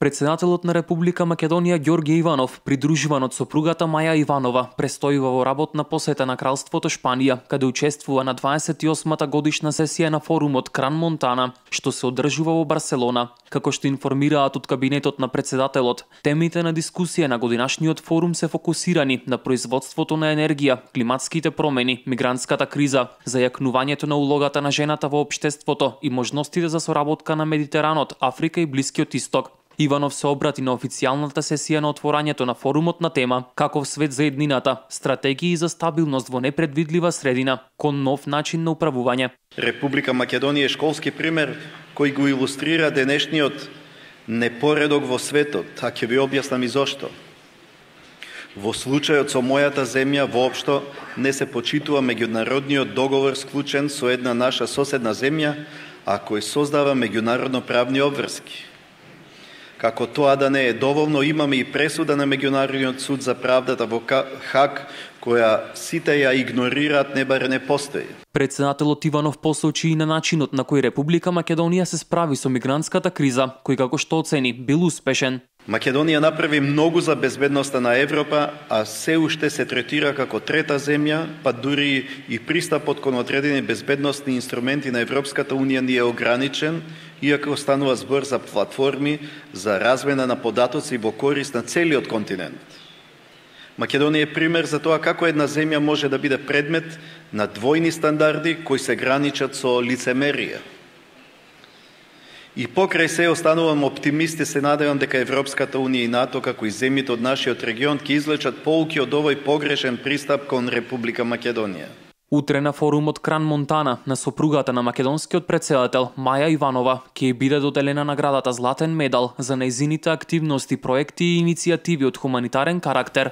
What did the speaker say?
Председателот на Република Македонија Ѓорѓе Иванов, придружуван од сопругата Маја Иванова, престојува во работна посета на Кралството Шпанија, каде учествува на 28-та годишна сесија на форумот Кран-Монтана, што се одржува во Барселона. Како што информираат од кабинетот на председателот, темите на дискусија на годинашниот форум се фокусирани на производството на енергија, климатските промени, мигрантската криза, зајакнувањето на улогата на жената во општеството и можностите за соработка на Медитеранот, Африка и Блискиот Исток. Иванов се обрати на официјалната сесија на отворањето на форумот на тема "Каков свет за еднината? Стратегии за стабилност во непредвидлива средина, кон нов начин на управување". Република Македонија е школски пример кој го илустрира денешниот непоредок во светот, а ќе ви објаснам и зошто. Во случајот со мојата земја воопшто не се почитува меѓународниот договор склучен со една наша соседна земја, а кој создава меѓународно правни обврски. Како тоа да не е доволно, имаме и пресуда на Меѓународниот суд за правдата во Хаг, која сите ја игнорираат, не баре не постои. Председателот Иванов посочи и на начинот на кој Република Македонија се справи со мигрантската криза, кој како што оцени бил успешен. Македонија направи многу за безбедноста на Европа, а се уште се третира како трета земја, па дури и пристапот кон одредени безбедносни инструменти на Европската Унија ни е ограничен, иако станува збор за платформи за размена на податоци во корист на целиот континент. Македонија е пример за тоа како една земја може да биде предмет на двојни стандарди кои се граничат со лицемерие. И покрај се останувам оптимист и се надевам дека Европската Унија и НАТО, како и земјите од нашиот регион, ќе извлечат поуки од овој погрешен пристап кон Република Македонија. Утре на форумот Кран-Монтана на сопругата на македонскиот председател Маја Иванова ќе биде доделена наградата Златен медал за нејзините активности, проекти и иницијативи од хуманитарен карактер.